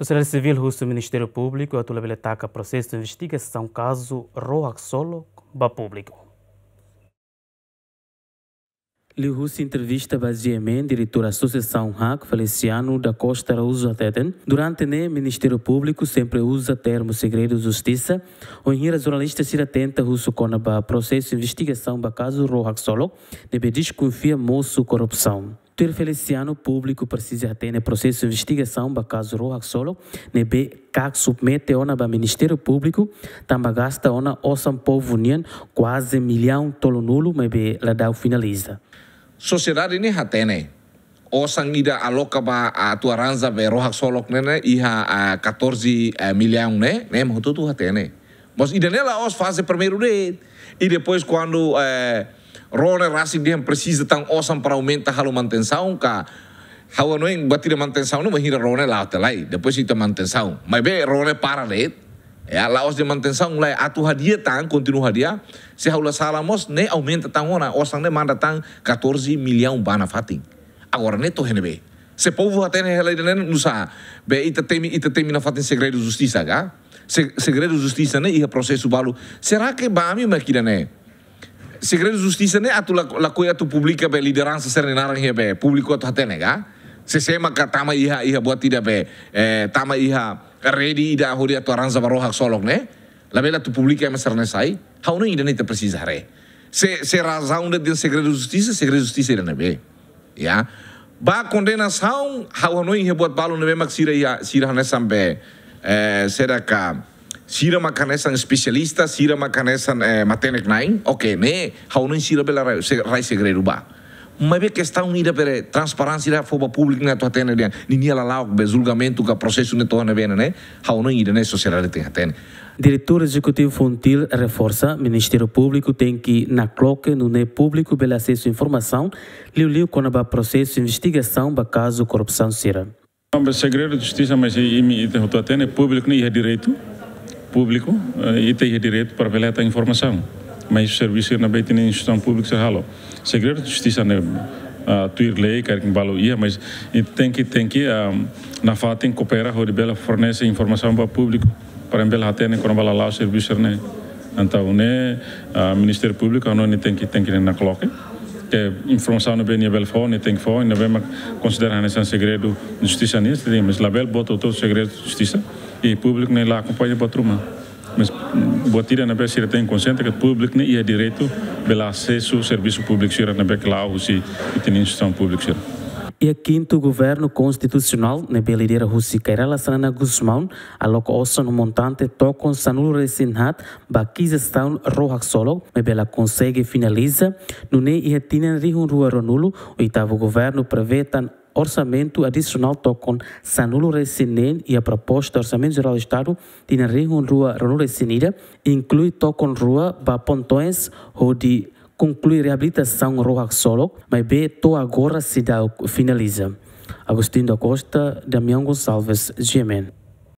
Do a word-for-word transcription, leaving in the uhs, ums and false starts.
Sosiedade sivíl husu Ministériu Públiku atu labele taka prosesu investigasaun kazu Ró Haksolok ba públiku. Liuhusi entrevista ba G M N, diretór Asosiasaun hak, Feliciano da Costa Araújo hateten, durante ne'e Ministériu Públiku sempre uza termu segredu justisa, wainhira jornalista sira tenta husu kona-ba prosesu investigasaun ba kazu Ró Haksolok, ne'ebé deskonfia mosu korrupsaun. Tuir Feliciano, públiku presiza hatene prosesu investigasaun ba kazu Ró Haksolok, ne'ebé CAC submete ona ba Ministériu Públiku, tanba gasta ona osan povu nian kuaze millaun tolunulu, maibé la dau finaliza. Sosiedade ne'e hatene. Osan ida aloka ba atu arranja be Ró Haksolok ne'e, ne'e iha, ah, catorze, eh, millaun ne'e, ne'e mak hotu-hotu hatene. Mas ida-ne'e la'ós faze primeiru de'it. I depois kuandu, eh, Ró ne'e rasik dehan presiza tan osan para aumenta halo manutensaun ka, ha'u hanoin buat ida manutensaun ne'e bainhira Ró ne'e la'o tiha lai. Depois ita manutensaun. Maibé Ró ne'e para de'it. Ya, la'ós dehan manutensaun lai, atu hadi'a tan, kontinua hadi'a. Se ha'u la sala mós, ne'e aumenta tan ona, osan ne'e manda tan catorze millaun ba nafatin. Agora ne'e to'o iha ne'ebé? Se povu hatene hela ida-ne'e, nusá? Be ita temi, ita temi nafatin segredu justisa ka? Se-, segredu justisa ne'e iha prosesu balu. Será que ba ami mak ida-ne'e? Segredu justisa ne'e atu la, lakohi atu publika be lideransa sira-nia naran iha be públiku atu hatene ka? Se sé maka tama iha, iha buat ida be, eh, tama iha rede ida hodi atu arranja ba Ró Haksolok ne'e? Labele atu publika ema sira-ne'e sai? Ha'u hanoin ida-ne'e ita presiza haree. Se, se razaun de'it segredu justisa, segredu justisa ida-ne'ebé. Ya. Ba kondenasaun, ha'u hanoin iha buat balu ne'ebé mak sira iha, sira hanesan be, eh, sira ka, sira mak hanesan espesialista, sira mak hanesan, eh, matenek-na'in. Oke, ne'e, ha'u hanoin sira bele rai, se-, rai segredu ba. Maibé kestaun ida be transparénsia ida fó ba públiku ne'e atu hatene dehan ninia lala'ok be julgamentu ka prosesu ne'e to'o iha ne'ebé ne'e, ha'u hanoin ida-ne'e sosiedade tenke hatene. Diretór Ezekutivu FONGIL reforsa, Ministériu Públiku tenke nakloke nune'e públiku bele asesu informasaun, liuliu kona-ba prosesu investigasaun ba kazu korrupsaun sira. Tanba segredu justisa, mas i-, imi ita hotu hatene, públiku ne'e iha direitu, públiku, eh, ita iha direitu para bele hetan informasaun. Mas servisu ne'ebé ita-nia instituisaun públika sira halo. Segredu justisa ne'e, ah, tuir lei, karik balu iha, mas ita tenke, tenke, ah, nafatin koopera hodi bele fornese informasaun ba públiku, para bele hatene kona-ba lala'ok servisu sira-ne'e. Entaun ne'e, ah, Ministériu Públiku, ha'u hanoin tenke, tenke nakloke. Ke informasaun ne'ebé nia bele fó, nia tenke fó, ne'ebé mak konsidera hanesan segredu justisa nian, mas labele boot hotu segredu justisa. I públiku ne'e la akompaña buat ruma. Mas, mm, buat ida ne'ebé sira tenke konsiente katak públiku ne'e iha direitu bele asesu servisu públiku sira ne'ebé ke la'o husi ita-nia instituisaun públiku sira. Iha kintu governu konstitusionál ne'ebé lidera husi Kay Rala Xanana Gusmão, aloka osan montante tokon sanulu-resin-haat ba akizisaun Ró Haksolok, maibé la konsege finaliza, nune'e iha tinan rihun rua ruanulu, oitavu governu prevee tan orsamentu adisionál tokon sanulu-resin-neen iha proposta Orsamentu Jerál Estadu tinan rihun rua ruanulu-resin-ida, inklui tokon rua ba Pontoens hodi konklui reabilitasaun Ró Haksolok, maibé to'o agora seidauk finaliza. Agostinho da Costa, Damião Gonçalves, G M N.